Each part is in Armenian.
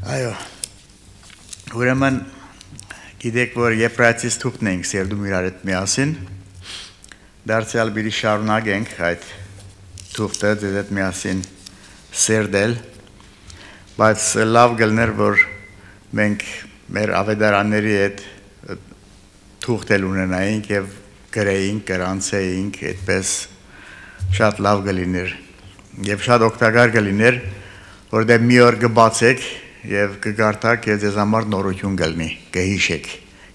Այո, ուրեմն գիտեք, որ Եփրայեցիս թուղթն ենք սերդում իրար հետ միասին, դարձյալ բերի շարունակենք այդ թուղթը ձեզ հետ միասին սերդել, բայց լավ գլներ, որ մենք մեր ավետարանների հետ թուղթել ունենայինք և գրեինք, կրանցեինք, այդպես շատ լավ գլիներ և շատ օգտակար գլիներ, որտեղ մի օր կբացեք և կգարտակ և ձեզ համար նորություն գլնի, կհիշեք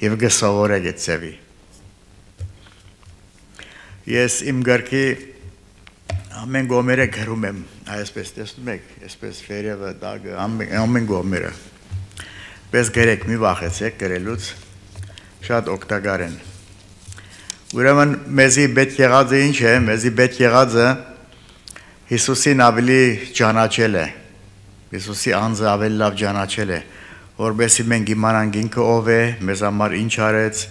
և կսովորեք այդ ձևի։ Ես իմ գրքի ամեն գոմերը գրում եմ, այսպես տեսնում եք, այսպես վերևը, դագը, ամեն գոմերը։ Պես գրեք, մի վախեցեք գրելուց, շատ օգտակար են։ Ուրեմն մեզի պետք եղածը ինչ է, մեզի պետք եղածը Հիսուսին ավելի ճանաչել է, Հիսուսի անձը ավելի լավ ճանաչել է, որպեսզի մենք իմանանք ինքը ով է, մեզ համար ինչ արեց,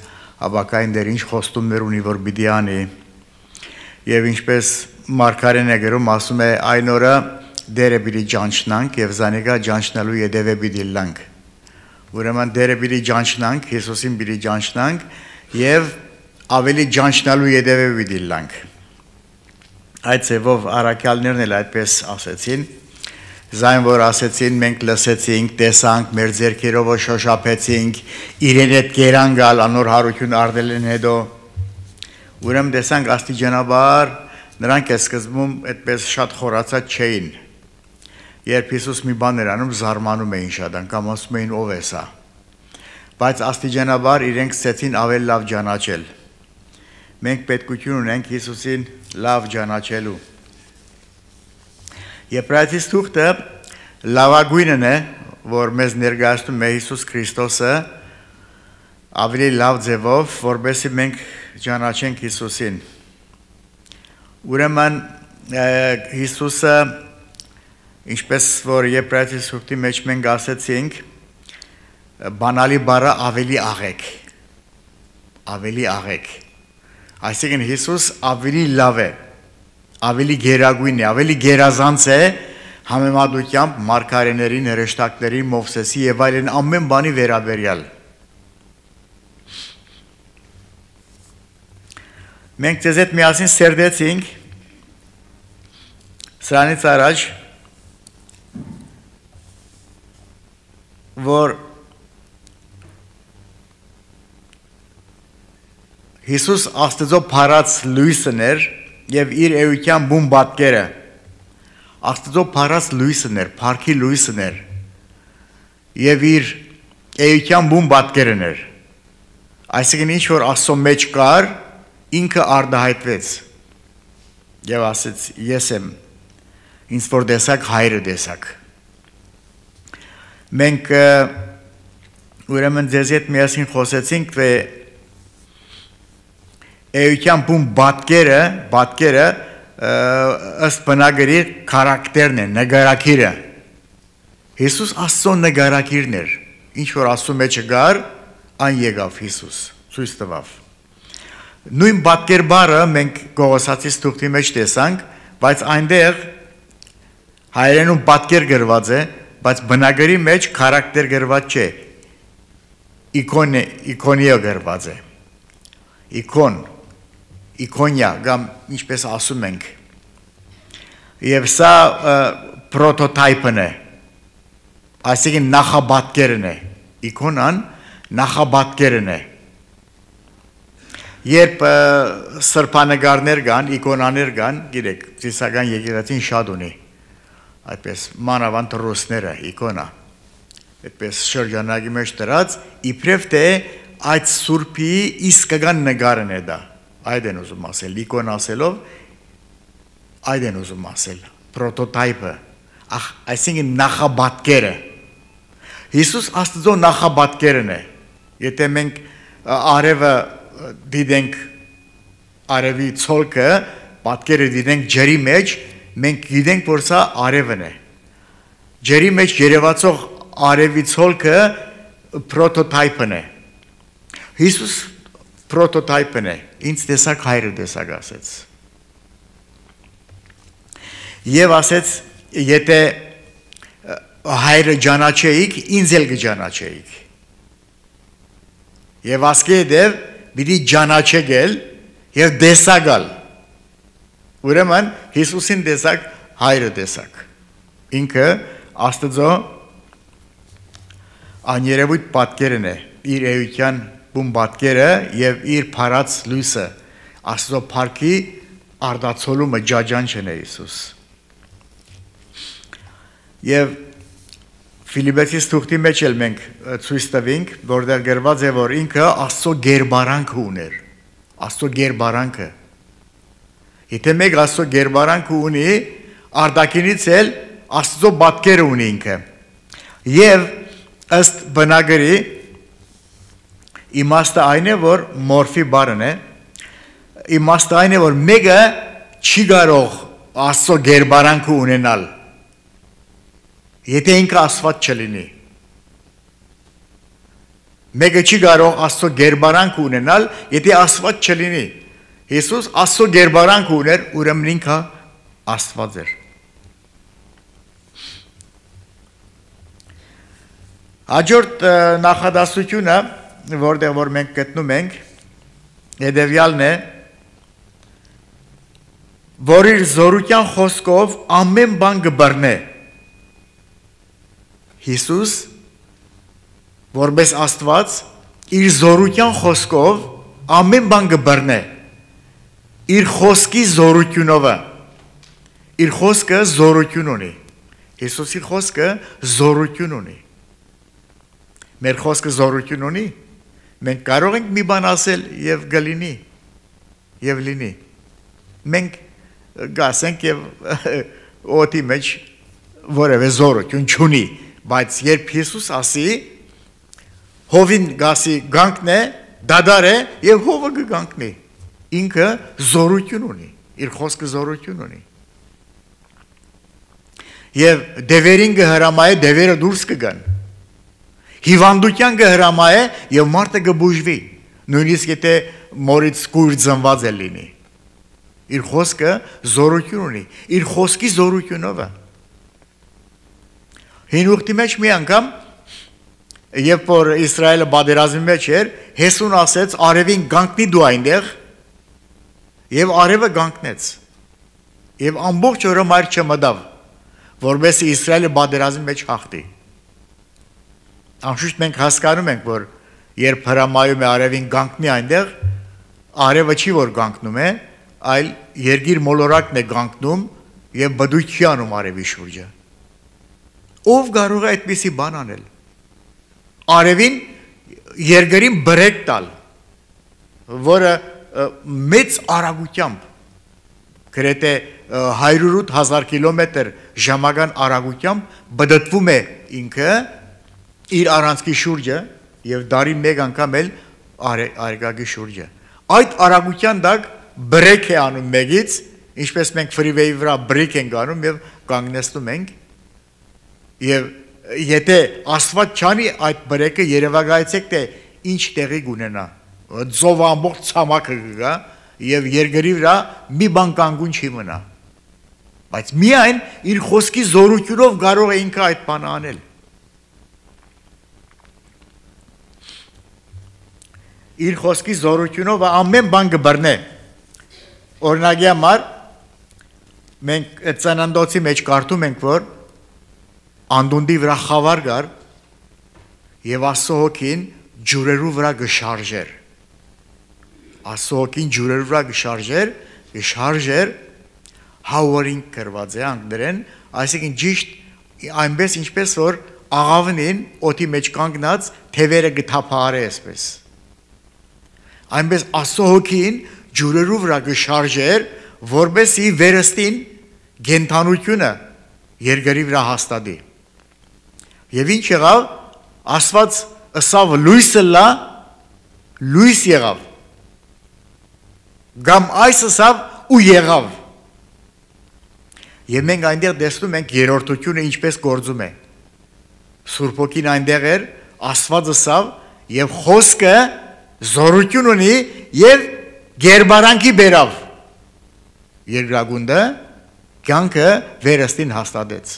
ապակային դեր ինչ խոստումներ ունի, որ պիտի անի, եւ ինչպես Մարգարեն է գրում, ասում է այն օրը դերը պիտի ճանչնանք եւ զանիկա ճանչնալու յետևե պիտի լանք։ Ուրեմն դերը պիտի ճանչնանք, Հիսուսին պիտի ճանչնանք եւ ավելի ճանչնալու յետևե պիտի լանք։ Այդ ձևով առաքյալներն էլ այդպես ասեցին, զայն որ ասեցին, մենք լսեցինք, տեսանք, մեր ձեռքերով շոշափեցինք, իրեն հետ կերան գալ, անոր հարություն առնել են հետո։ Ուրեմն տեսանք աստիճանաբար, նրանք է սկզբում այդպես շատ խորացած չէին։ Երբ Հիսուս մի բան էր անում, զարմանում էին շատ, անգամ ասում էին ով է սա։ Բայց աստիճանաբար իրենք սկսեցին ավելի լավ ճանաչել։ Մենք պետքություն ունենք Հիսուսին լավ ճանաչելու։ Եփրայեցիս թուղթը լավագույնն է, որ մեզ ներկայացնում է Հիսուս Քրիստոսը ավելի լավ ձևով, որպեսզի մենք ճանաչենք Հիսուսին։ Ուրեմն Հիսուսը, ինչպես որ Եփրայեցիս թուղթի մեջ մենք ասեցինք, բանալի բառը ավելի աղեք։ Այսինքն Հիսուս ավելի լավ է, ավելի գերագույն է, ավելի գերազանց է համեմատությամբ մարգարեներին, հրեշտակներին, Մովսեսի եւ այլն ամեն բանի վերաբերյալ։ Մենք ձեզ հետ միասին սերդեցինք սրանից առաջ, որ Հիսուս Աստծո փառած լույսն էր և իր էության բուն պատկերը, Աստծո փառած լույսն էր, փառքի լույսն էր և իր էության բուն պատկերն էր, այսինքն ինչ որ Աստծո մեջ կար, ինքը արտահայտվեց և ասեց ես եմ, ինձ որ տեսակ հայրը տեսակ։ Մենք ուրեմն ձեզ հետ միասին խոսեցինք, թե էության բուն պատկերը ըստ բնագրի քարակտերն է, նկարագիրը։ Հիսուս Աստծո նկարագիրն էր, ինչ որ Աստծո մեջ գար, այն եկավ Հիսուս, ցույց տվավ։ Նույն պատկեր բառը մենք Գողոսացիս թուղթի մեջ տեսանք, բայց այնտեղ հայերենում պատկեր գրված է, բայց բնագրի մեջ քարակտեր գրված չէ, իքոնիա գրված է, իքոնիա, կամ ինչպես ասում ենք, և սա պրոտոտայպն է, այսինքն նախապատկերն է, իքոնան նախապատկերն է։ Երբ սրբանկարներ կան, իքոնաներ կան, գիտեք, ծիսական եկեղեցին շատ ունի, այդպես մանավանդ ռուսները, իքոնա, այդպես շրջանակի մեջ դրած, իբրև թե այդ սուրբի իսկական նկարն է դա, այդ են ուզում ասել, իքոն ասելով, այդ են ուզում ասել, պրոտոտայպը, այսինքն նախապատկերը։ Հիսուս Աստծո նախապատկերն է, եթե մենք արևը դիտենք, արևի ցոլքը, պատկերը դիտենք ջրի մեջ, մենք գիտենք, որ սա արևն է։ Ջրի մեջ երևացող արևի ցոլքը պրոտոտայպն է։ Հիսուս պրոտոտայպն է, ինձ տեսակ հայրը տեսակ ասեց։ Եվ ասեց, եթե հայրը ճանաչեիք, ինձ էլ կճանաչեիք։ Եվ ասկե դև պիտի ճանաչեգել եւ դեսագալ։ Ուրեմն Հիսուսին դեսակ, հայրը դեսակ։ Ինքը Աստծո աներևույթ պատկերն է, իր էության բուն պատկերը եւ իր փարած լույսը, Աստծո փառքի արդացոլումը ջաջանչն է Հիսուս։ Եվ Ֆիլիպպեցիս թուղթի մեջ էլ մենք ցույց տվինք, որտեղ գրված է, որ ինքը Աստծո գերբարանքը ուներ։ Աստծո գերբարանքը։ Եթե մեկ Աստծո գերբարանքը ունի, արտաքինից էլ Աստծո պատկերը ունի ինքը։ Եվ ըստ բնագրի իմաստը այն է, որ մորֆի բառն է, իմաստը այն է, որ մեկը չի կարող Աստծո գերբարանքը ունենալ, եթե ինքը Աստված չլինի։ Մեկը չի կարող Աստծո գերբարանք ունենալ, եթե Աստված չլինի։ Հիսուս Աստծո գերբարանք ուներ, ուրեմն ինքը Աստված էր։ Հաջորդ նախադասությունը, որտեղ որ մենք գտնում ենք, հետևյալն է, որ իր զորության խոսքով ամեն բան կբռնե։ Հիսուս, որպես Աստված, իր զորության խոսքով ամեն բան կբռնե, իր խոսքի զորությունով, իր խոսքը զորություն ունի, Հիսուսի խոսքը զորություն ունի, մեր խոսքը զորություն ունի, մենք կարող ենք մի բան ասել և գլինի, և լինի, մենք գասենք և օտի մեջ որև է զորություն չունի, բայց երբ Հիսուս ասի, հովին գասի գանքն է, դադար է և հովը գանքնի, ինքը զորություն ունի, իր խոսքը զորություն ունի։ Եվ դևերին կհրամայ է, դևերը դուրս կգան, հիվանդության կհրամայ է և մարդը կբուժվի, նույնիսկ եթե մորից կույր ծնված է լինի, իր խոսքը զորություն ունի, իր խոսքի զորությունով է։ Հին ուխտի մեջ մի անգամ, երբ որ Իսրայելը պատերազմի մեջ էր, Հեսուն ասեց, արևին գանքնի դու այնտեղ, եւ արևը գանքնեց։ Եվ ամբողջ օրը մայր չմտավ, որովհետեւ Իսրայելը պատերազմի մեջ հաղթի։ Անշուշտ մենք հասկանում ենք, որ երբ հրամայում է արևին գանքնի այնտեղ, արևը չի որ գանքնում է, այլ երկիր մոլորակն է գանքնում եւ բդույթի անում արևի շուրջը։ Ով կարող է այդպիսի բան անել։ Արևին երկրին բրեկ տալ, որը մեծ արագությամբ, գրեթե 108,000 կիլոմետր ժամական արագությամբ բդտվում է ինքը իր առանցքի շուրջը եւ դարի մեկ անգամ էլ արեգակի շուրջը։ Այդ արագության տակ բրեկ է անում մեկից, ինչպես մենք ֆրիվեյի վրա բրեկ ենք անում եւ կանգնեցնում ենք։ Եվ եթե Աստված չանի այդ բրեկը երևակայեցեք, թե ինչ տեղի կունենա, ձով ամբողջ ցամաքը կգա եւ երկրի վրա մի բան կանգուն չի մնա, բայց միայն իր խոսքի զորությունով կարող է ինքը այդ բանը անել։ Իր խոսքի զորությունով ամեն բան կբռնե։ Օրինակի համար մենք այդ ծննդոցի մեջ կարդում ենք, որ անդունդի վրա խավար գար եւ Աստծո հոգին ջուրերու վրա գշարժեր։ Աստծո հոգին ջուրերու վրա գշարժեր հավորին կրված է անգլերեն, այսինքն ճիշտ այնպես ինչպես որ աղավնին օդի մեջ կանգնած թևերը գթափարե այսպես։ Այնպես Աստծո հոգին ջուրերու վրա գշարժեր, որպեսզի վերստին գենթանությունը երկրի վրա հաստատի։ Եվ ինչ եղավ, Աստված ըսավ լույսը լա, լույս եղավ, գամ այս ըսավ ու եղավ։ Եվ մենք այնտեղ տեսնում ենք երրորդությունը ինչպես գործում է։ Սուրբ Հոգին այնտեղ էր, Աստված ըսավ եւ խոսքը զորություն ունի եւ գերբարանքի բերավ։ Երկրագունդը կյանքը վերստին հաստատեց։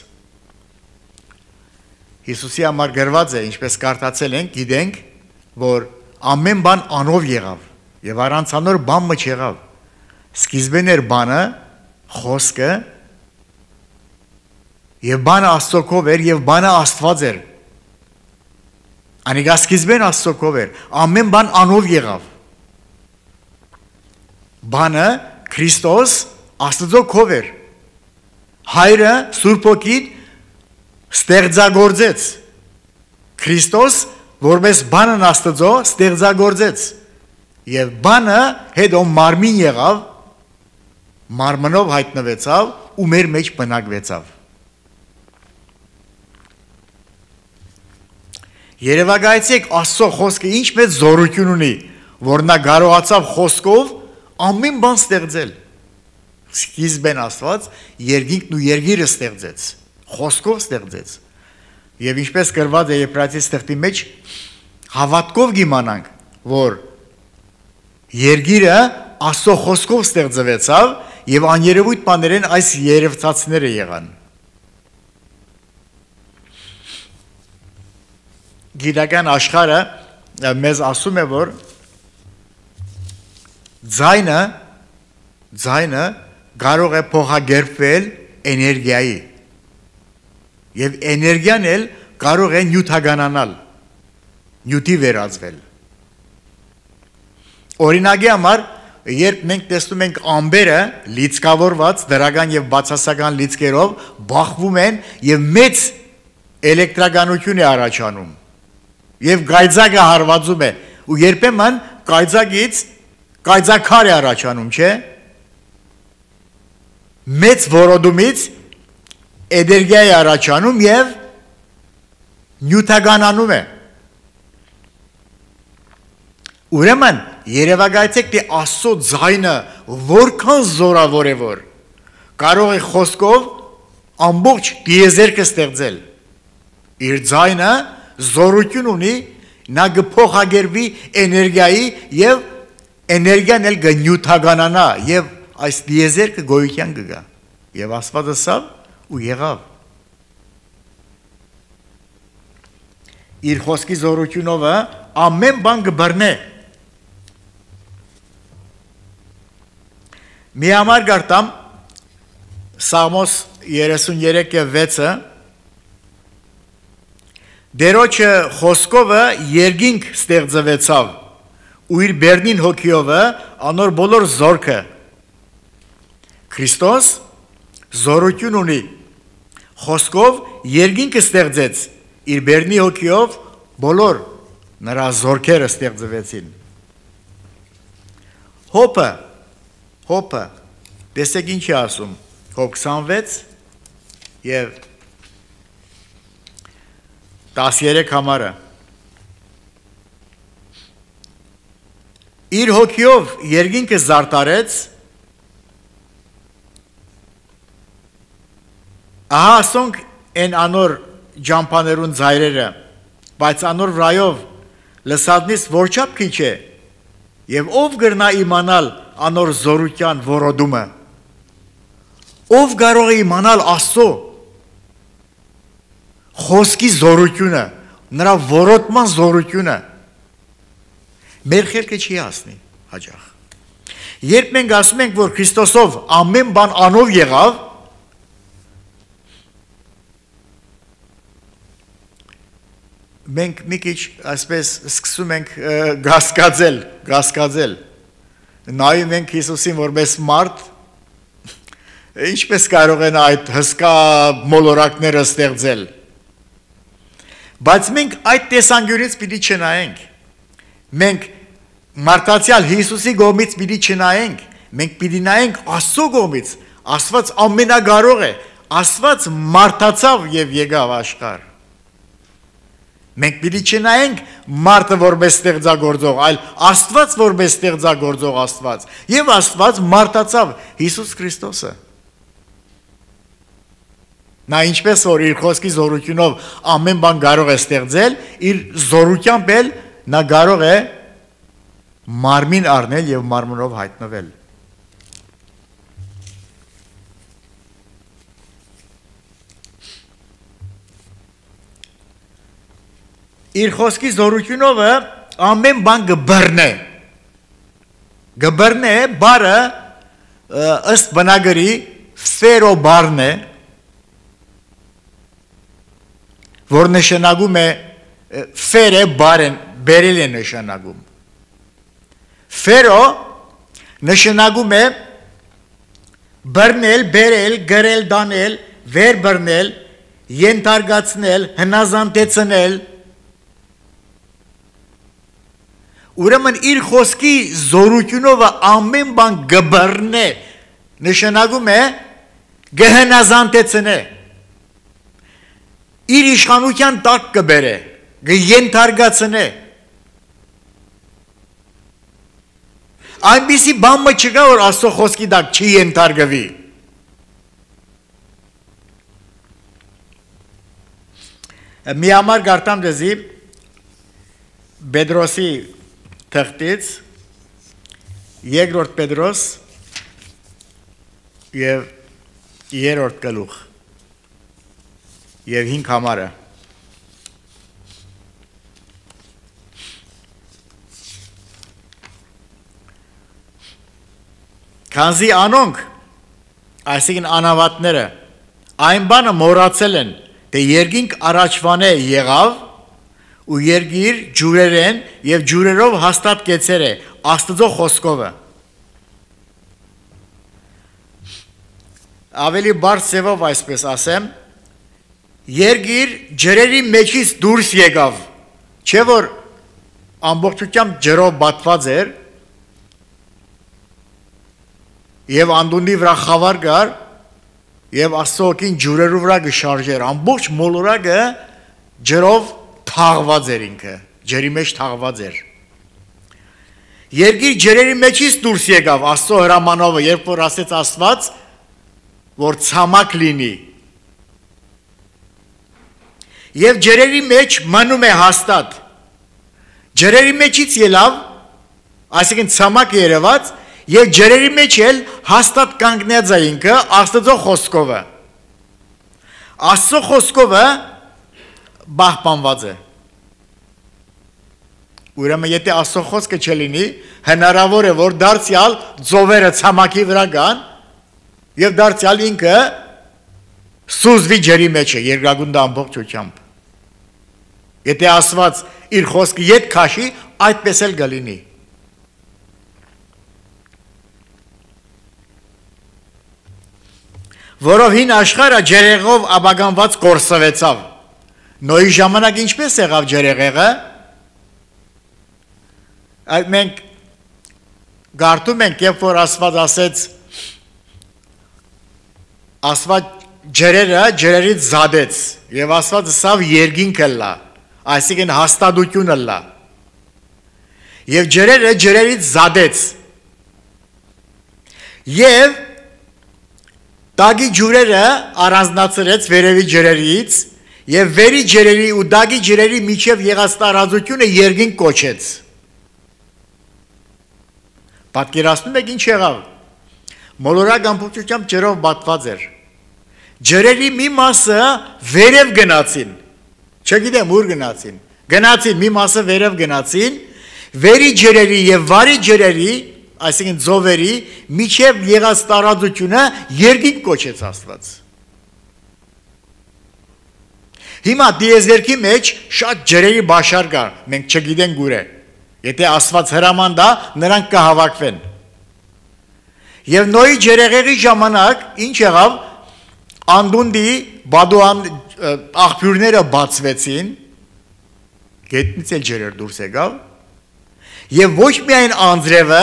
Հիսուսի համար գրված է, ինչպես կարդացել ենք, գիտենք, որ ամեն բան անով եղավ եւ առանց անոր բան չեղավ։ Սկիզբն էր բանը, խոսքը եւ բանը Աստծոքով էր եւ բանը Աստված էր։ Անիկա սկիզբն Աստծոքով էր, ամեն բան անով եղավ։ Բանը Քրիստոս Աստծոքով էր։ Հայրը Սուրբ Հոգին ստեղծագործեց։ Քրիստոս որպես բանն Աստծո ստեղծագործեց։ Եվ բանը հետո մարմին եղավ, մարմնով հայտնվեցավ ու մեր մեջ բնակվեցավ։ Երևակայեցեք Աստծո խոսքը ինչ մեծ զորություն ունի, որ նա կարողացավ խոսքով ամեն բան ստեղծել։ Սկիզբն Աստված երկինքն ու երկիրը ստեղծեց, խոսքով ստեղծեց։ Եվ ինչպես գրված է Եբրայեցիս թղթի մեջ, հավատքով կիմանանք, որ երկիրը Աստծո խոսքով ստեղծվեցավ եւ աներևույթ բաներեն այս երևցածները եղան։ Գիտական աշխարհը մեզ ասում է, որ ձայնը կարող է փոխագործվել էներգիայի եւ էներգիան էլ կարող է նյութականանալ, նյութի վերածվել։ Օրինակի համար, երբ մենք տեսնում ենք ամբերը լիցքավորված դրական եւ բացասական լիցքերով բախվում են եւ մեծ էլեկտրականություն է առաջանում եւ գայծակը հարվածում է ու երբեմն գայծակից գայծակար է առաջանում, չէ՞։ Մեծ որոդումից էներգիա է առաջանում եւ նյութականանում է։ Ուրեմն երևակայեցեք, թե Աստծո ձայնը որքան զորավոր է, որ կարող է խոսքով ամբողջ դիեզերքը ստեղծել։ Իր ձայնը զորություն ունի, նա կփոխագործվի էներգիայի եւ էներգիան էլ կնյութականանա եւ այս դիեզերքը գոյության կգա։ Եվ Աստված ասավ ու եղավ։ Իր խոսքի զորությունով ամեն բան կբռնե։ Մի համար գարտամ Սաղմոս 33:6-ը Դերոջը խոսքովը երկինք ստեղծվեցավ ու իր բերնին հոգիովը անոր բոլոր զորքը։ Քրիստոս զորություն ունի, խոսքով երկինքը ստեղծեց, իր բերնի հոգիով բոլոր նրա զորքերը ստեղծվեցին։ Հոպը, տեսեք ինչ է ասում, Հոբ 26 եւ 13 համարը։ Իր հոգիով երկինքը զարտարեց, ահա ասոնք են անոր ջամփաներուն ձայրերը, բայց անոր վրայով լսածնից որչափ քիչ է, եւ ով գրնա իմանալ անոր զորության որոդումը։ Ով կարող է իմանալ Աստծո խոսքի զորությունը, նրա որոտման զորությունը։ Մեր խելքը չի հասնի հաջող։ Երբ մենք ասում ենք, որ Քրիստոսով ամեն բան անով եղավ, մենք մի քիչ այսպես սկսում ենք գասկածել։ Նայում ենք Հիսուսին որպես մարդ, ինչպես կարող են այդ հսկա մոլորակները ստեղծել։ Բայց մենք այդ տեսանկյունից պիտի չնայենք։ Մենք մարդացյալ Հիսուսի կողմից պիտի չնայենք, մենք պիտի նայենք Աստծո կողմից։ Աստված ամենակարող է, Աստված մարդացավ եւ եկավ աշխարհ։ Մենք պիտի չնայենք մարդը որպես ստեղծագործող, այլ Աստված որպես ստեղծագործող Աստված։ Եվ Աստված մարդացավ Հիսուս Քրիստոսը։ Նա ինչպես որ իր խոսքի զորությունով ամեն բան կարող է ստեղծել, իր զորությամբ էլ նա կարող է մարմին առնել եւ մարմնով հայտնվել։ իր խոսքի զորությունով ամեն բան գբռնե բարը ըստ բնագրի ֆերո բառն է, որ նշանակում է ֆերը բառն բերել է նշանակում։ Ֆերո նշանակում է բռնել, բերել, գրել, դանել, վեր բռնել, ենթարկացնել, հնազանդեցնել։ Ուրեմն իր խոսքի զորությունով ամեն բան գբռնե նշանակում է գհնազանդեցնե, իր իշխանության տակ կբերե, գենթարկացնե։ Այնպիսի բան չկա, որ Աստծո խոսքի տակ չի ենթարկվի։ Մի համար գարտամ դեզի Պետրոսի թղթից, երկրորդ Պետրոս և երրորդ գլուխ և 5 համարը։ Քանզի անոնք, այսինքն անավատները, այն բանը մոռացել են, թե երկինք առաջվան է եղավ ու երգիր ջուրեր են և ջուրերով հաստատ կեցեր է Աստծո խոսքովը։ Ավելի բարձ ձևով այսպես ասեմ, երգիր ջրերի մեջից դուրս եկավ, չէ որ ամբողջությամբ ջրով բատված էր և անդունդի վրա խավար կար և Աստծո օգին ջուրերու վրա կշարժեր, ամբողջ մոլորակը ջրով թաղված էր ինքը, ջրի մեջ թաղված էր։ Երգիր ջրերի մեջից դուրս եկավ Աստծո հրամանովը, երբ որ ասեց Աստված, որ ցամաք լինի։ Եվ ջրերի մեջ մնում է հաստատ։ Ջրերի մեջից ելավ, այսինքն ցամաք երևաց, և ջրերի մեջ էլ հաստատ կանգնած է ինքը Աստծո խոսքովը։ Աստծո խոսքովը պահպանված է։ Ուրեմն եթե Աստծո խոսքը չլինի, հնարավոր է որ դարձյալ ծովերը ցամաքի վրա գան և դարձյալ ինքը սուզվի ջրի մեջ է, երկրագունդը ամբողջությամբ։ Եթե Աստված իր խոսքը ետ քաշի, այդպես էլ կլինի։ Որով հին աշխարհը ջրեղով աբագանված կորսվեցավ։ Նոյի ժամանակ ինչպես եղավ ջրեղեղը։ Այդ մենք գարտում ենք, երբ որ Աստված ասեց, Աստված ջրերը ջրերից զադեց և Աստված սավ երկինքը լա, այսինքն հաստատությունը լա և ջրերը ջրերից զադեց և տագի ջուրերը առանձնացրեց վերևի ջրերից և վերի ջրերի ու տագի ջրերի միջև եղած տարածությունը երկինք կոչեց։ Պատկերացնում եք ինչ եղավ։ Մոլորակ ամբողջությամբ ջրով բատված էր։ Ջրերի մի մասը վերև գնացին, չգիտեմ ուր գնացին, գնացին մի մասը վերև գնացին, վերի ջրերի և վարի ջրերի, այսինքն ծովերի միջև եղած տարածությունը երկինք կոչեց Աստված։ Հիմա դիեզերքի մեջ շատ ջրերի բաշար կա, մենք չգիտենք ուր է։ Եթե Աստված հրաման տա, նրանք կհավաքվեն։ Եվ Նոյի ջրեղեղի ժամանակ ինչ եղավ, անդունդի բադուան աղբյուրները բացվեցին, գետնից էլ ջրեր դուրս եկավ, և ոչ միայն անձրևը,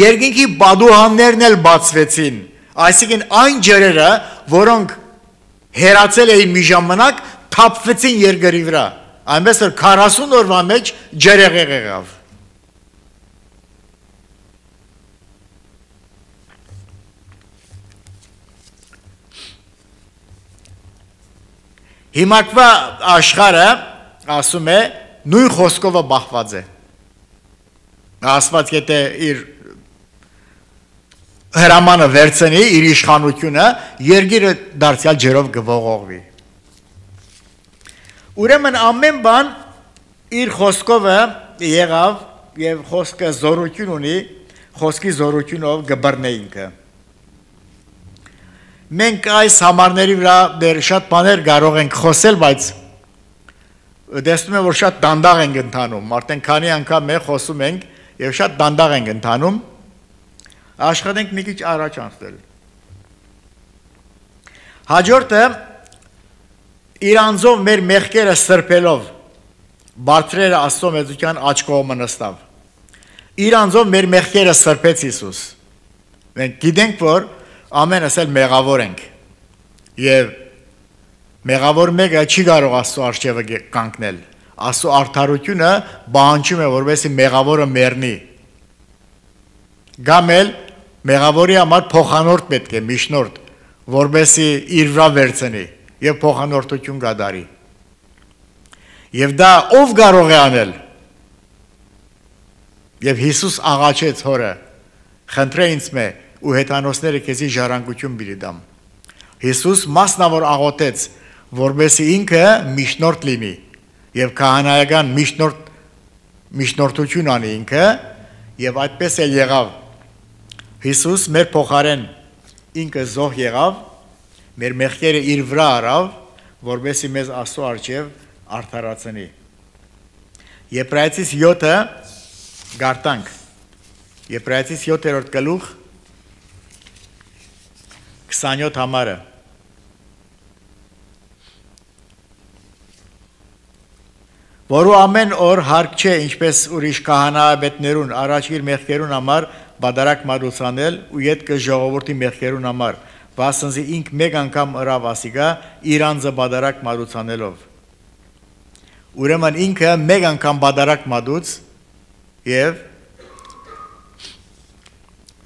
երկինքի բադուհաններն էլ բացվեցին, այսինքն այն ջրերը, որոնք հեռացել էին մի ժամանակ, թափվեցին երկրի վրա, այնպես որ 40 օրվա մեջ ջրեղեղ եղավ։ Հիմակվա աշխարհը ասում է նույն խոսքովը բախված է։ Աստված եթե իր հրամանը վերցնի, իր իշխանությունը, երկիրը դարձյալ ջրով կողողվի։ Ուրեմն ամեն բան իր խոսքովը եղավ եւ խոսքը զորություն ունի, խոսքի զորությունով գբռնե ինքը։ Մենք այս համարների վրա դեռ շատ բաներ կարող ենք խոսել, բայց տեսնում եմ, որ շատ դանդաղ ենք ընթանում, արդեն քանի անգամ մենք խոսում ենք եւ շատ դանդաղ ենք ընթանում, աշխատենք մի քիչ առաջ անցնել։ Հաջորդը իր անձով մեր մեղքերը սրբելով բարձրերը Աստծո մեծության աջ կողմը նստավ։ Իր անձով մեր մեղքերը սրբեց Հիսուս։ Մենք գիտենք, որ ամենս էլ մեղավոր ենք եւ մեղավոր մեկը չի կարող Աստծո առջևը կանգնել։ Աստծո արդարությունը բանջում է, որովհետեւ մեղավորը մեռնի։ Կամ էլ մեղավորի համար փոխանորդ պետք է, միջնորդ, որովհետեւ իր վրա վերցնի եւ փոխանորդություն կատարի։ Եվ դա ով կարող է անել։ Եվ Հիսուս աղաչեց հորը. «Խնդրե ինձ մե ու հեթանոսները քեզի ժառանգություն բերի դամ»։ Հիսուս մասնավոր աղոթեց, որովհետեւ ինքը միջնորդ լինի եւ քահանայական միջնորդություն անի ինքը եւ այդպես էլ եղավ։ Հիսուս մեր փոխարեն ինքը զոհ եղավ, մեր մեղքերը իր վրա առավ, որովհետեւ մեզ Աստծո առջև արդարացնի։ Եբրայեցիս 7-ը գարտանք։ Եբրայեցիս 7-րդ գլուխ 27 համարը։ Որու ամեն օր հարկ չէ, ինչպես ուրիշ քահանայապետներուն առաջ իր մեղքերուն համար բադարակ մատուցանել ու յետքը ժողովրդի մեղքերուն համար, վասնզի ինք մեկ անգամ ըրավ ասիգա իր անձը բադարակ մատուցանելով։ Ուրեմն ինքը մեկ անգամ բադարակ մատուց եւ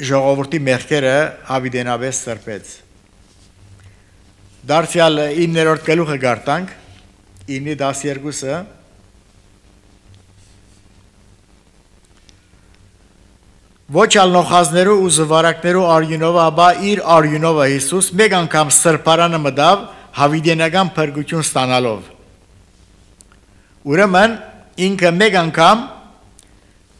ժողովրդի մեղքերը հավիդենաբես սրբեց։ Դարձյալ 9-րդ գլուխը գարտանք, 9-12-ը Ոչ ալ նոխազներու ու զվարակներու արյունովը, ապա իր արյունովը Հիսուս մեկ անգամ սրբարանը մտավ հավիդենական փրկություն ստանալով։ Ուրեմն ինքը մեկ անգամ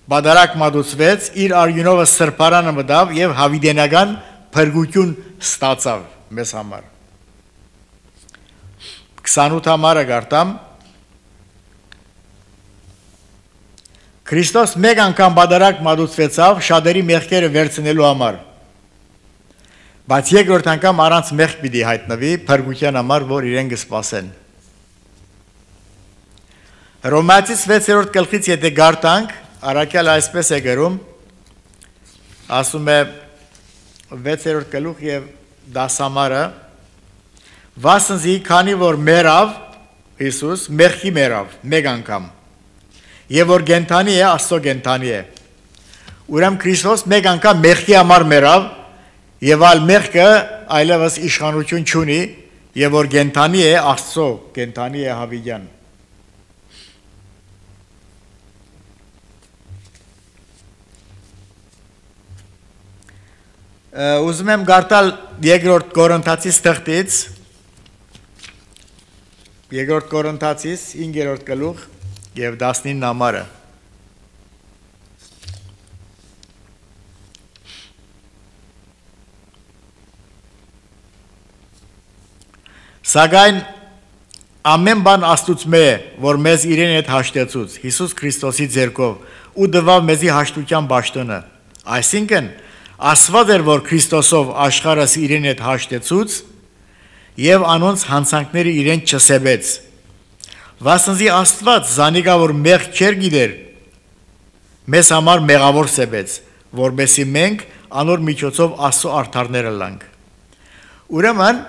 բադարակ մատուցվեց, իր արյունովը սրբարանը մտավ եւ հավիդենական փրկություն ստացավ մեզ համար։ 28 համարը գարտամ։ Քրիստոս մեկ անգամ բադարակ մատուցվեցավ շատերի մեղքերը վերցնելու համար։ Բայց երկրորդ անգամ առանց մեղք պիտի հայտնվի փրկության համար, որ իրեն կսպասեն։ Հռոմեացիս 6-րդ գլխից եթե գարտանք, առաքյալ այսպես է գրում, ասում է 6-րդ գլուխ եւ 10 համարը, վասնզի քանի որ մեռավ Հիսուս, մեղքի մեռավ մեկ անգամ։ Եվ որ գենթանի է, Աստծո գենթանի է։ Ուրեմն Քրիստոս մեկ անգամ մեղքի համար մեռավ, եւ այլ մեղքը այլևս իշխանություն չունի, եւ որ գենթանի է, Աստծո գենթանի է հավիդյան։ Ուզում եմ գարտալ երկրորդ Կորինթացիս թղթից, երկրորդ Կորինթացիս 5-րդ գլուխ եւ 19 համարը։ Սակայն ամեն բան Աստուծմե է, որ մեզ իրեն հետ հաշտեցուց, Հիսուս Քրիստոսի ձեռքով ու դվավ մեզի հաշտության բաշտոնը։ Այսինքն ասված էր, որ Քրիստոսով աշխարհս իրեն հետ հաշտեցուց եւ անոնց հանցանքները իրեն չսեբեց։ Վասնզի Աստված զանիկա որ մեղք չեր գիտեր, մեզ համար մեղավոր սեբեց, որբեսի մենք անոր միջոցով Աստծո արդարները լանք։ Ուրեմն,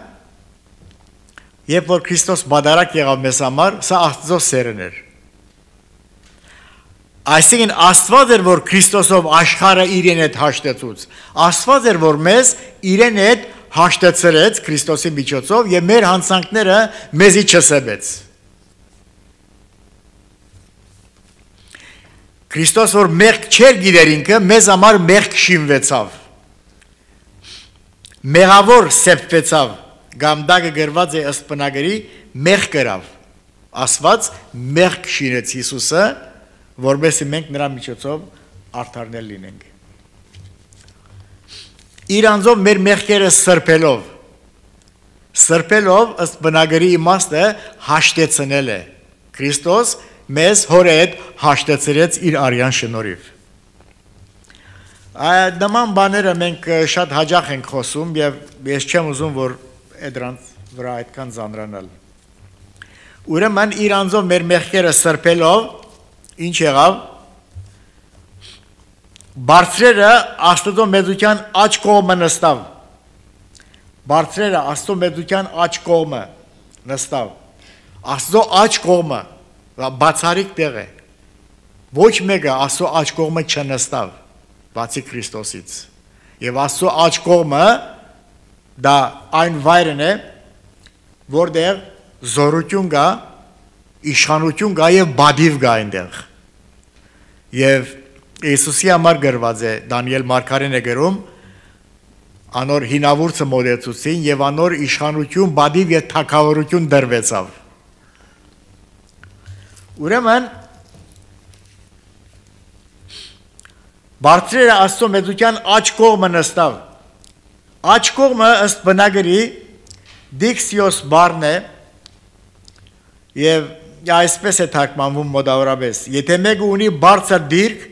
երբ որ Քրիստոս բադարակ եղավ մեզ համար, սա Աստծո սերն էր։ Այսինքն Աստված էր, որ Քրիստոսով աշխարհը իրեն հետ հաշտեցուց։ Աստված էր, որ մեզ իրեն հետ հաշտեցրեց Քրիստոսի միջոցով եւ մեր հանցանքները մեզի չսեբեց։ Քրիստոս որ մեղք չեր գիտեր ինքը, մեզ համար մեղք շինվեցավ։ Մեղավոր սեփվեցավ, գամդակը գրված է ըստ բնագրի մեղք գրավ։ Աստված մեղք շինեց Հիսուսը, որովհետեւ մենք նրա միջոցով արդարներ լինենք։ Իր անձով մեր մեղքերը սրբելով ըստ բնագրի իմաստը հաշտեցնել է։ Քրիստոս մեզ հոր հետ հաշտեցրեց իր արյան շնորհիվ։ Նման բաները մենք շատ հաճախ ենք խոսում եւ ես չեմ ուզում որ դրանց վրա այդքան ծանրանալ։ Ուրեմն իր անձով մեր մեղքերը սրբելով ինչ եղավ բարձրերը Աստծո մեծության աջ կողմը նստավ։ Բարձրերը Աստծո մեծության աջ կողմը նստավ։ Աստծո աջ կողմը բացառիկ տեղ է։ Ոչ մեկը Աստծո աջ կողմը չնստավ, բացի Քրիստոսից։ Եվ Աստծո աջ կողմը դա այն վայրն է, որտեղ զորություն կա, իշխանություն կա եւ բադիվ կա այնտեղ։ Եվ Իսուսի համար գրված է Դանիել մարգարեն է գրում անոր հինավուրցը մոդեցուցին եւ անոր իշխանություն, բադիվ եւ թագավորություն դրվեցավ։ Ուրեմն բարձրերը Աստծո մեծության աջ կողմը նստավ։ Աջ կողմը ըստ բնագրի դիքսիոս բառն է եւ այսպես է թարգմանվում մոտավորապես։ Եթե մեկը ունի բարձր դիրք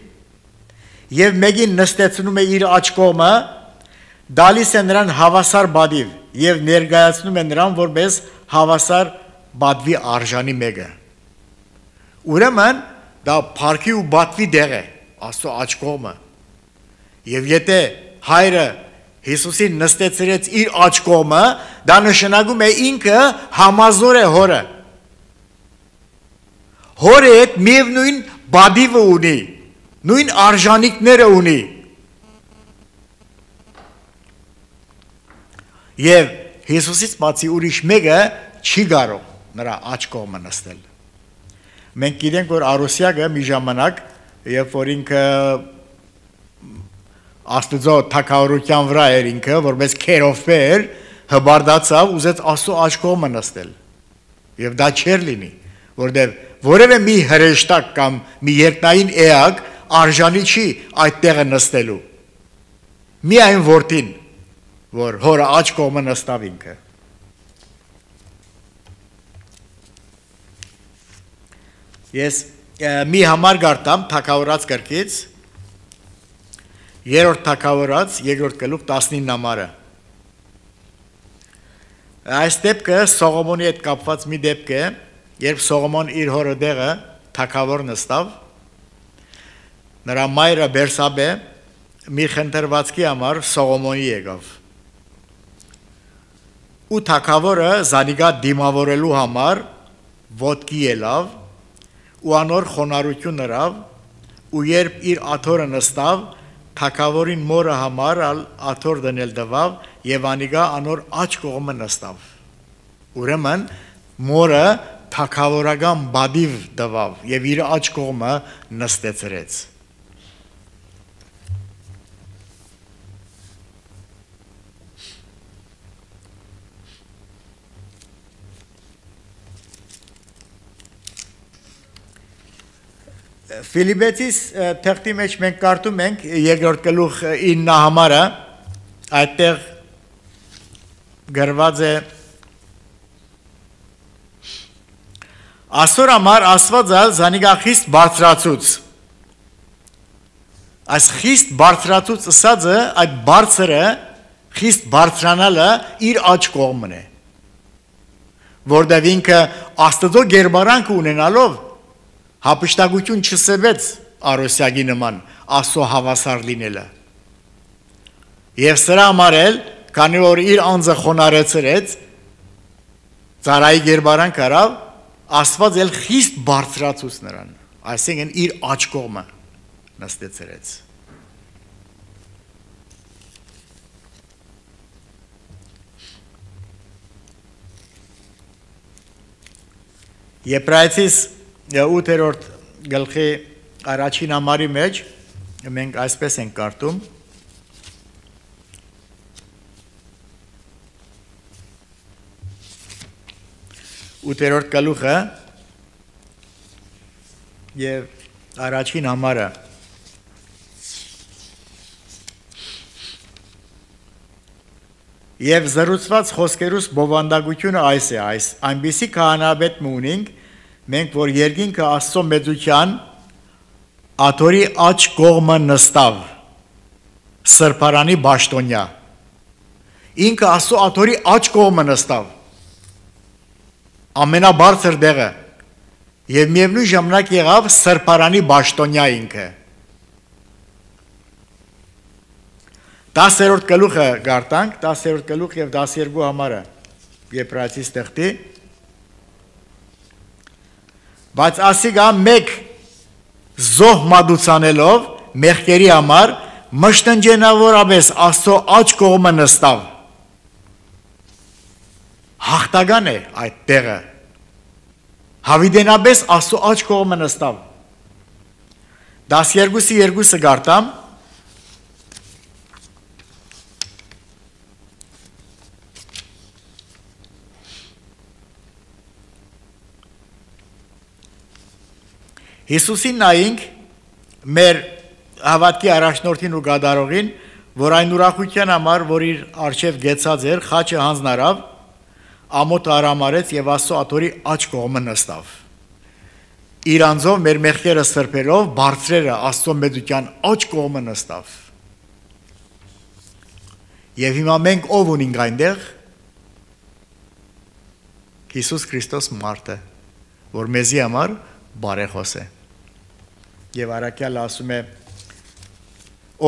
եւ մեկին նստեցնում է իր աջ կողմը, դալիս է նրան հավասար բադիվ եւ ներկայացնում է նրան որպես հավասար բադվի արժանի մեկը։ Ուրեմն դա փառքի ու բադվի դեղ է Աստծո աջ կողմը։ Եվ եթե հայրը Հիսուսին նստեցրեց իր աջ կողմը, դա նշանակում է ինքը համազոր է հորը։ Հորը հետ միևնույն բադիվը ունի, նույն արժանիքները ունի։ Եվ Հիսուսից բացի ուրիշ մեկը չի կարող նրա աջ կողմը նստել։ Մենք գիտենք, որ Արուսյակը մի ժամանակ, երբ որ ինքը Աստծո թագավորության վրա էր ինքը, որպես քերովպե էր, հբարդացավ, ուզեց Աստծո աջ կողմը նստել։ Եվ դա չէր լինի, որտեղ որևէ մի հրեշտակ կամ մի երկնային էակ արժանի չի այդ տեղը նստելու։ Միայն որդին, որ հորը աջ կողմը նստավ ինքը։ Ես մի համար գարտամ թագավորած գրքից, երրորդ թագավորած, երկրորդ գլուխ 19 համարը։ Այս դեպքը Սողոմոնի հետ կապված մի դեպք է, երբ Սողոմոն իր հորը դեղը թագավոր նստավ, նրա մայրը Բերսաբե մի խնդրվածքի համար Սողոմոնի եկավ։ Ու թագավորը զանիգա դիմավորելու համար ոտքի ելավ ու անոր խոնարհություն հրավ ու երբ իր աթոռը նստավ թագավորին մորը համար աթոռ դնել տվավ եւ անիգա անոր աջ կողմը նստավ։ Ուրեմն մորը թագավորական բադիվ տվավ եւ իր աջ կողմը նստեցրեց։ Ֆիլիպեցիս թղթի մեջ մենք կարդում ենք երկրորդ գլուխ 9 համարը, այդտեղ գրված է Աստոր համար Աստվածը զանիգա խիստ բարձրացուց։ Այս խիստ բարձրացուց ըսածը այդ բարձրը խիստ բարձրանալը իր աջ կողմն է։ Որտեղ ինքը Աստծո գերբարանք ունենալով հապշտակություն չսեվեց Արոսյակի նման Աստծո հավասար լինելը։ Եվ սրա համար էլ, քանի որ իր անձը խոնարհեցրեց, ծառայի գերբարանք արավ, Աստված էլ խիստ բարձրացուց նրան, այսինքն իր աջ կողմը նստեցրեց։ Եբրայեցիս 8-րդ գլխի առաջին համարի մեջ մենք այսպես ենք կարդում. Ութերորդ գլուխը եւ առաջին համարը Եվ զրուցված խոսքերուս բովանդակությունը այս է, այնպիսի քահանայապետ ունենք, մենք որ երկինքը Աստծո մեծության աթորի աջ կողմը նստավ, սրբարանի բաշտոնյա, ինքը Աստծո աթորի աջ կողմը նստավ, ամենաբարձր դեղը, եւ միևնույն ժամանակ եղավ սրբարանի բաշտոնյա ինքը։ 10-րդ գլուխը գարտանք, 10-րդ գլուխ եւ 12 համարը Եբրայեցիս տեխտի, բայց ասիկա մեկ զոհ մատուցանելով մեղքերի համար մշտնջենավորապես Աստծո աջ կողմը նստավ։ Հաղթական է այդ տեղը։ Հավիտենապես Աստծո աջ կողմը նստավ։ 12-2 գարտամ Հիսուսին նայինք մեր հավատքի առաջնորդին ու գադարողին, որ այն ուրախության համար, որ իր արչև գեցած էր, խաչը հանձնարավ, ամոթը արամարեց եւ Աստծո աթորի աջ կողմը նստավ։ Իր անձով մեր մեղքերը սրբելով բարձրերը Աստծո մեծության աջ կողմը նստավ։ Եվ հիմա մենք ով ունենք այնտեղ Հիսուս Քրիստոս մարդը, որ մեզի համար բարեխոս է։ Եվ Արաքյալը ասում է,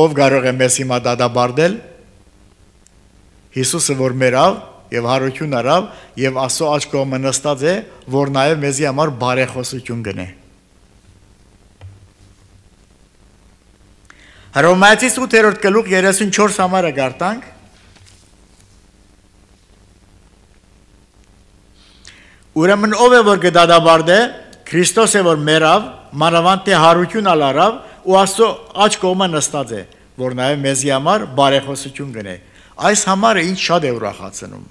ով կարող է մեզ հիմա դադարել, Հիսուսը որ մերավ եւ հարություն արավ եւ Աստծո աջ կողմը նստած է, որ նաեւ մեզի համար բարեխոսություն գնե։ Հռոմեացիս 8-րդ գլուխ 34 համարը գարտանք։ Ուրեմն ով է որ կդադարե, Քրիստոս է որ մերավ, մանավանդ թե հարություն ալարավ ու Աստծո աջ կողմը նստած է, որ նաև մեզի համար բարեխոսություն գնե։ Այս համարը ինձ շատ է ուրախացնում,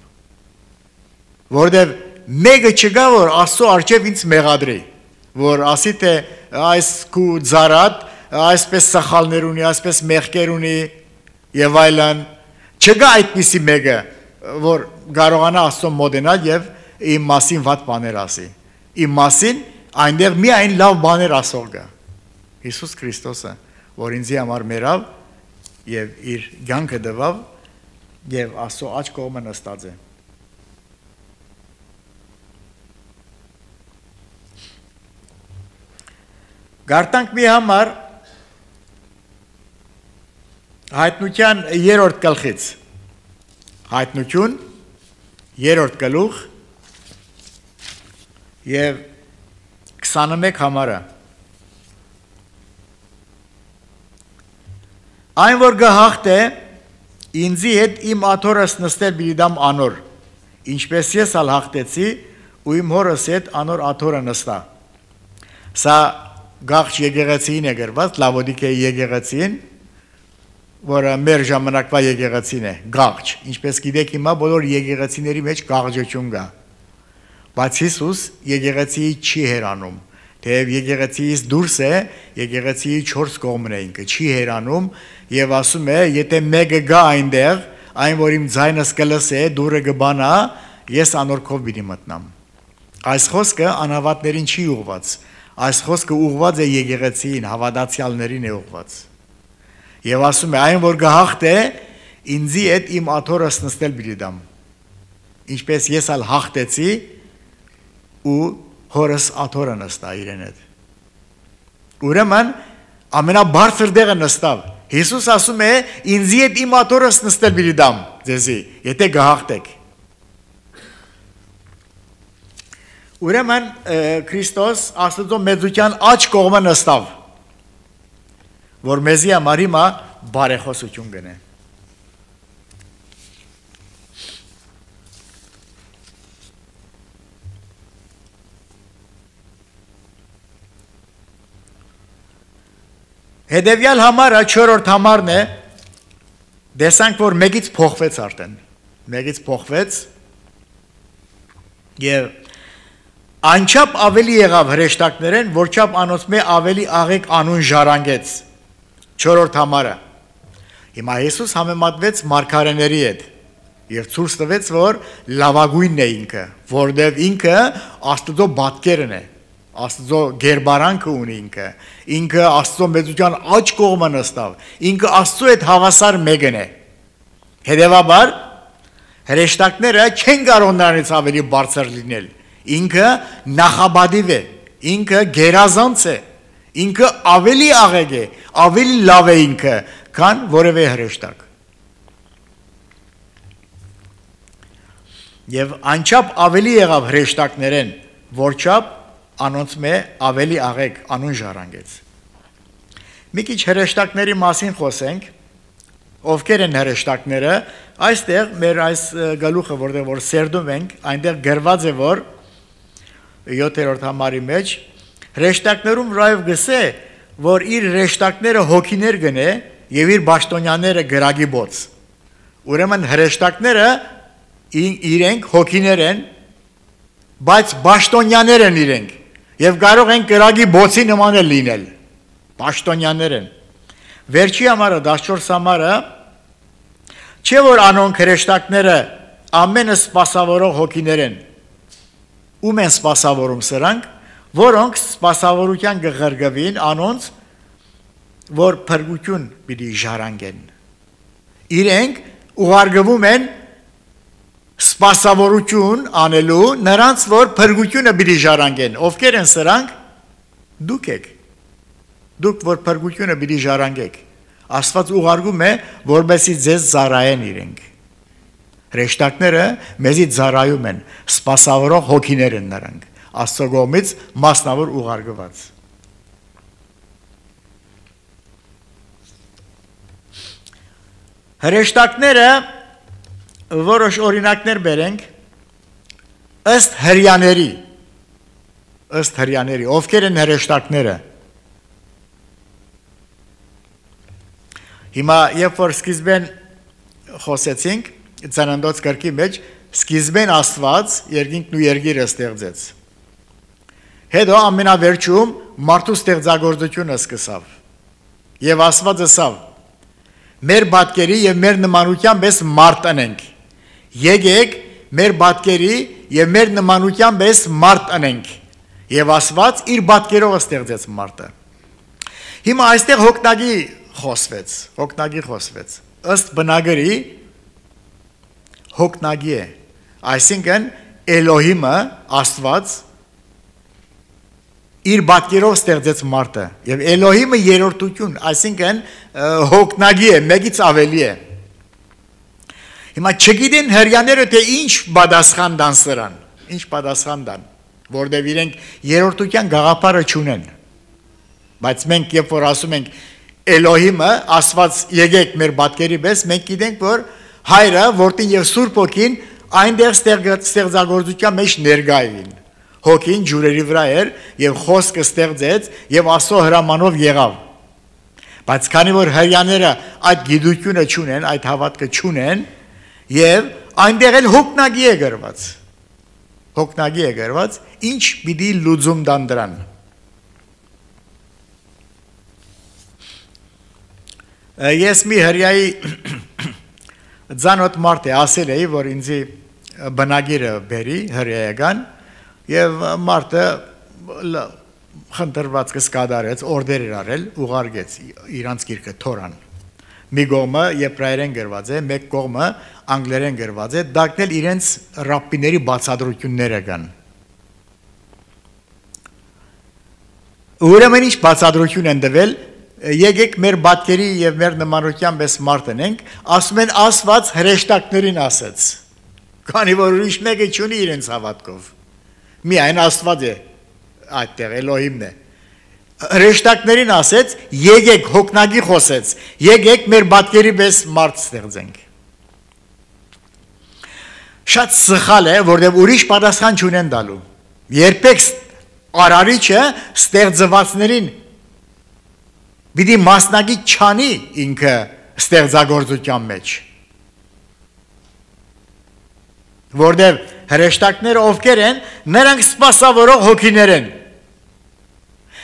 որովհետև մեկը չկա, որ Աստծո առջև ինձ մեղադրի, որ ասի թե այս քու ծարատ, այսպես սխալներ ունի, այսպես մեղքեր ունի եւ այլն, չկա այդպիսի մեկը, որ կարողանա Աստծո մոտենալ եւ իմ մասին վատ բաներ ասի։ Իմ մասին այնտեղ միայն լավ բաներ ասող կա։ Հիսուս Քրիստոսը, որ ինձի համար մերավ եւ իր կյանքը տվավ եւ Աստծո աջ կողմը նստած է։ Գարտանք մի համար հայտնության 3-րդ գլխից։ Հայտնություն 3-րդ գլուխ եւ 21 համարը Այն որ գահախտ է ինձի հետ իմ աթորս նստել բիդամ անոր ինչպես ես ալ հաղթեցի ու իմ հորս հետ անոր աթորը նստա Սա գաղջ եկեղեցին է գրված Լավոդիկեի եկեղեցին որը մեր ժամանակվա եկեղեցին է գաղջ ինչպես գիտեք հիմա բոլոր եկեղեցիների մեջ գաղջություն կա Բայց Հիսուս եկեղեցիի չի հերանում, թեև եկեղեցիից դուրս է, եկեղեցիի 4 կողմն է ինքը, չի հերանում եւ ասում է, եթե մեկը գա այնտեղ, այն որ իմ ձայնս կլսե, դուրը կբանա, ես անորքով պիտի մտնամ։ Այս խոսքը անհավատներին չի ուղված, այս խոսքը ուղված է եկեղեցիին, հավատացյալներին է ուղված։ Եվ ասում է, այն որ գահախտ է, ինձի հետ իմ աթորս նստել պիտի դամ։ Ինչպես ես ալ հաղթեցի ու հորս աթորը նստա իրեն հետ։ Ուրեմն ամենաբարձր դեղը նստավ։ Հիսուս ասում է ինձի հետ իմ աթորս նստել պիտի դամ ձեզի, եթե գահախտեք։ Ուրեմն Քրիստոս Աստծո մեծության աջ կողմը նստավ, որ մեզի համար հիմա բարեխոսություն գնե։ Հետևյալ համարը 4-րդ համարն է, դեսանք, որ մեկից փոխվեց արդեն, մեկից փոխվեց և Անչափ ավելի եղավ հրեշտակներեն, որչափ անոնց մե ավելի աղեկ անուն ժառանգեց։ 4-րդ համարը։ Հիմա Հիսուս համեմատվեց մարգարեների հետ եւ ցույց տվեց, որ լավագույնն է ինքը, որովհետեւ ինքը Աստծո բատկերն է, Աստծո գերբարանքը ունի ինքը Աստծո մեծության աջ կողմը նստավ, ինքը Աստծո հետ հավասար մեկն է։ Հետևաբար հրեշտակները չեն կարող նրանից ավելի բարձր լինել։ Ինքը նախաբադիվ է, ինքը գերազանց է, ինքը ավելի աղեկ է, ավելի լավ է ինքը, քան որևէ հրեշտակ։ Եվ անչափ ավելի եղավ հրեշտակներեն, որչափ անոնց մե ավելի աղեկ անուն ժառանգեց։ Մի քիչ հրեշտակների մասին խոսենք, ովքեր են հրեշտակները, այստեղ մեր այս գլուխը, որ սերդում ենք, այնտեղ գրված է, որ 7-րդ համարի մեջ հրեշտակներում ռայվ գսե, որ իր հրեշտակները հոգիներ գնե եւ իր բաշտոնյաները գրագի բոց։ Ուրեմն հրեշտակները իրենք հոգիներ են, բայց բաշտոնյաներ են իրենք եւ կարող են գրագի բոցի նման լինել։ Բաշտոնյաներ են։ Վերջի համարը 14 համարը չէ որ անոնք հրեշտակները ամենը սպասավորող հոգիներ են։ Ում են սպասավորում սրանք, որոնք սպասավորության գղրգվին անոնց, որ փրկություն պիտի ժառանգեն։ Իրենք ուղարկվում են սպասավորություն անելու նրանց, որ փրկությունը պիտի ժառանգեն։ Ովքեր են սրանք։ Դուք եք։ Դուք որ փրկությունը պիտի ժառանգեք։ Աստված ուղարկում է, որպեսզի ձեզ ծառայեն իրենք։ Հրեշտակները մեզի ծառայում են, սպասավորող հոգիներ են նրանք, Աստծո կողմից մասնավոր ուղարկված։ Հրեշտակները որոշ օրինակներ բերենք ըստ հրյաների, ովքեր են հրեշտակները։ Հիմա երբ որ սկիզբեն խոսեցինք Ծննդոց գրքի մեջ, սկիզբեն Աստված երկինքն ու երկիրը ստեղծեց։ Հետո ամենավերջում մարդու ստեղծագործությունը սկսավ։ Եվ Աստված ասավ. մեր պատկերի եւ մեր նմանությամբ ես մարդ անենք։ Եկեք մեր պատկերի եւ մեր նմանությամբ ես մարդ անենք։ Եվ Աստված իր պատկերով ստեղծեց մարդը։ Հիմա այստեղ հոգնագի խոսվեց։ Ըստ բնագրի հոգնագի է, այսինքն Էլոհիմը, Աստված իր պատկերով ստեղծեց մարդը եւ Էլոհիմը երրորդություն, այսինքն հոգնագի է, մեկից ավելի է։ Հիմա չգիտեն հрьяաները թե ինչ պատասխան տան սրան, որտեղ իրենք երրորդության գաղափարը չունեն։ Բայց մենք երբ որ ասում ենք Էլոհիմը, Աստված եկեք մեր պատկերի պես, մենք գիտենք որ Հայրը, որդին եւ Սուրբ Հոգին այնտեղ ստեղծագործության մեջ ներկա էին։ Հոգին ջուրերի վրա էր եւ խոսքը ստեղծեց եւ Աստծո հրամանով եղավ։ Բայց քանի որ հрьяաները այդ գիտությունը չունեն, այդ հավատքը չունեն, եւ այնտեղ էլ հոգնագի է գրված, ինչ պիտի լուծում տան դրան։ Ես մի հрьяայի Ձանոտ մարդ է ասել էի, որ ինձի բնագիրը բերի հրեական եւ մարդը խնդրվածքս կատարեց, օրդեր էր արել, ուղարկեց իրանց գիրքը Թորան։ Մի կողմը եբրայերեն գրված է, մեկ կողմը անգլերեն գրված է, դակնել իրենց ռաբբիների բացատրությունները կան։ Ուրեմն ինչ բացատրություն են տվել, եկեք մեր պատկերի եւ մեր նմանությամբ ես մարդ ենք, ասում են Աստված հրեշտակներին ասեց։ Քանի որ ուրիշ մեկը չունի իրենց հավատքով։ Միայն Աստված է այդտեղ, Էլոհիմն է։ Հրեշտակներին ասեց, եկեք հոգնագի խոսեց, եկեք մեր պատկերի պես մարդ ստեղծենք։ Շատ սխալ է, որտեղ ուրիշ պատասխան չունեն տալու։ Երբեք արարիչը ստեղծվածներին Պիտի մասնագի չանի ինքը ստեղծագործության մեջ։ որտեղ հրեշտակները ովքեր են, նրանք սպասավորող հոգիներ են,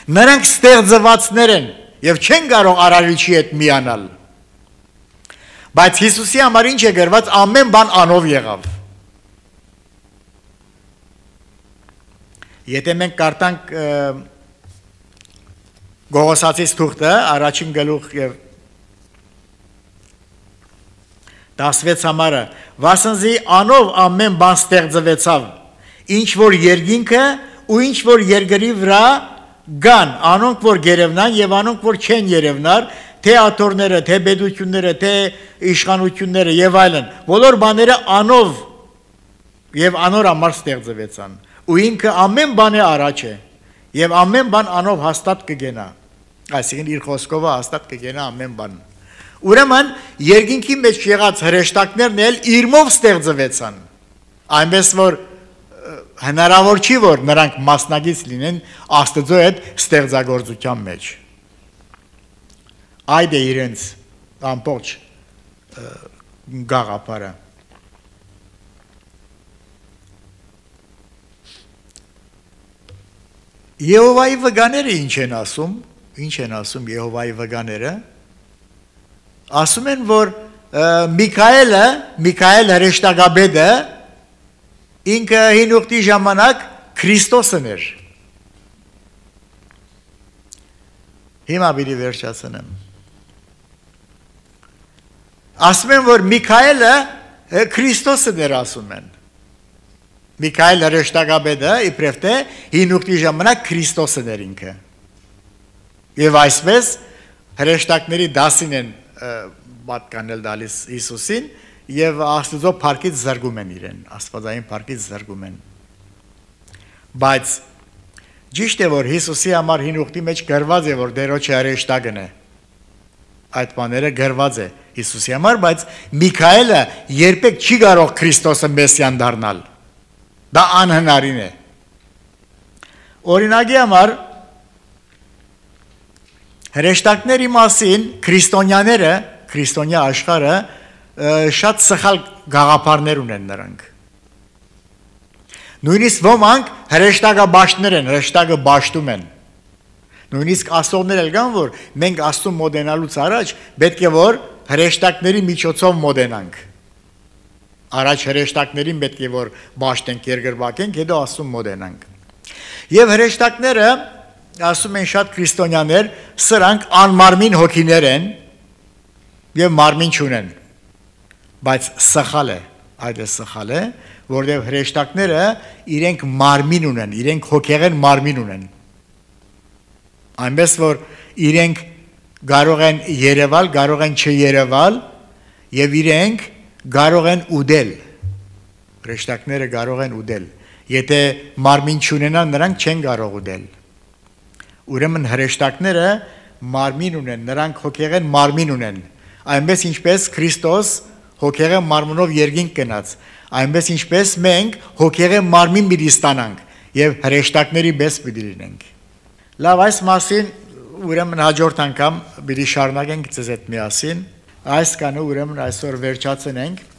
նրանք ստեղծվածներ են եւ չեն կարող արարիչի հետ միանալ, բայց Հիսուսի համար ինչ է գրված, ամեն բան անով եղավ։ Եթե մենք կարդանք Գողոսացիս թուղթը, առաջին գլուխ եւ 16 համարը, վասնզի անով ամեն բան ստեղծվեցավ, ինչ որ երկինքը ու ինչ որ երկրի վրա գան, անոնք որ գերևնան եւ անոնք որ չեն երևնար, թե աթոռները, թե բեդությունները, թե իշխանությունները եւ այլն, բոլոր բաները անով եւ անոր համար ստեղծվեցան, ու ինքը ամեն բանի առաջ է եւ ամեն բան անով հաստատ կգենա, այսինքն իր խոսքով հաստատ կգենա ամեն բան։ Ուրեմն երկինքի մեջ եղած հրեշտակներն էլ իրմով ստեղծվեցան, այնպես որ հնարավոր չի որ նրանք մասնագից լինեն Աստծո հետ ստեղծագործության մեջ։ Այդ է իրենց ամբողջ գաղափարը։ Եհովայի վկաները ինչ են ասում Եհովայի վկաները, ասում են, որ Միքայել հրեշտակաբեդը ինքը հին ուխտի ժամանակ Քրիստոսն էր։ Հիմա պիտի վերջացնեմ։ Ասում են, որ Միքայելը Քրիստոսն էր, ասում են։ Միքայել հրեշտակաբեդը իբրև թե հին ուխտի ժամանակ Քրիստոսն էր ինքը։ Եվ այսպես հրեշտակների դասին են պատկանել դալիս Հիսուսին եւ Աստծո փառքից զրկում են իրեն, աստվածային փառքից զրկում են։ Բայց ճիշտ է որ Հիսուսի համար հին ուխտի մեջ գրված է որ Տերոջը հրեշտակն է։ Այդ բաները գրված է Հիսուսի համար, բայց Միքայելը երբեք չի կարող Քրիստոսը Մեսիան դառնալ։ Դա անհնարին է։ Օրինակի համար հրեշտակների մասին քրիստոնյա աշխարհը շատ սխալ գաղափարներ ունեն նրանք։ Նույնիսկ ոմանք հրեշտակաբաշխներ են, հրեշտակը բաշխում են։ Նույնիսկ ասողներ էլ կան, որ մենք Աստծուն մոտենալուց առաջ պետք է որ հրեշտակների միջոցով մոտենանք։ Առաջ հրեշտակներին պետք է որ բաշխենք, երկրվակենք, հետո Աստծուն մոտենանք։ Եվ հրեշտակները ասում են շատ քրիստոնյաներ, սրանք անմարմին հոգիներ են եւ մարմին չունեն, բայց սխալ է, այդ է սխալ է, որտեղ հրեշտակները իրենք մարմին ունեն, իրենք հոգեղեն մարմին ունեն, այնպես որ իրենք կարող են երևալ, կարող են չերևալ եւ իրենք կարող են ուդել, հրեշտակները կարող են ուդել, եթե մարմին չունենան, նրանք չեն կարող ուդել։ Ուրեմն հրեշտակները մարմին ունեն, նրանք հոգեղեն մարմին ունեն, այնպես ինչպես Քրիստոս հոգեղեն մարմնով երկինք գնաց, այնպես ինչպես մենք հոգեղեն մարմին պիտի ստանանք եւ հրեշտակների պես պիտի լինենք։ Լավ, այս մասին ուրեմն հաջորդ անգամ պիտի շարունակենք ձեզ հետ միասին, այս կանը ուրեմն այսօր վերջացնենք։